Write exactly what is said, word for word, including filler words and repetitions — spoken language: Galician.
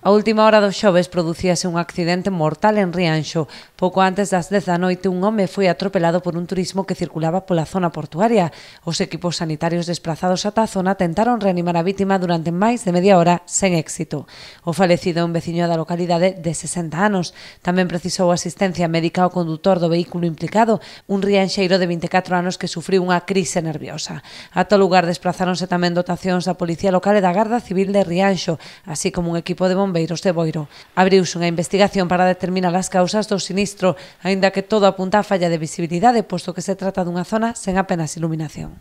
A última hora do xoves producíase un accidente mortal en Rianxo. Pouco antes das dez da noite, un home foi atropelado por un turismo que circulaba pola zona portuaria. Os equipos sanitarios desplazados ata a zona tentaron reanimar a vítima durante máis de media hora sen éxito. O falecido é un veciño da localidade de sesenta anos. Tamén precisou asistencia médica ao condutor do vehículo implicado, un rianxeiro de vinte e catro anos que sufriu unha crise nerviosa. Ata o lugar desplazáronse tamén dotacións da Policía Local e da Garda Civil de Rianxo, así como un equipo de bombeiros de Boiro. Abriuse unha investigación para determinar as causas do sinistro, aínda que todo apunta á falla de visibilidade, posto que se trata dunha zona sen apenas iluminación.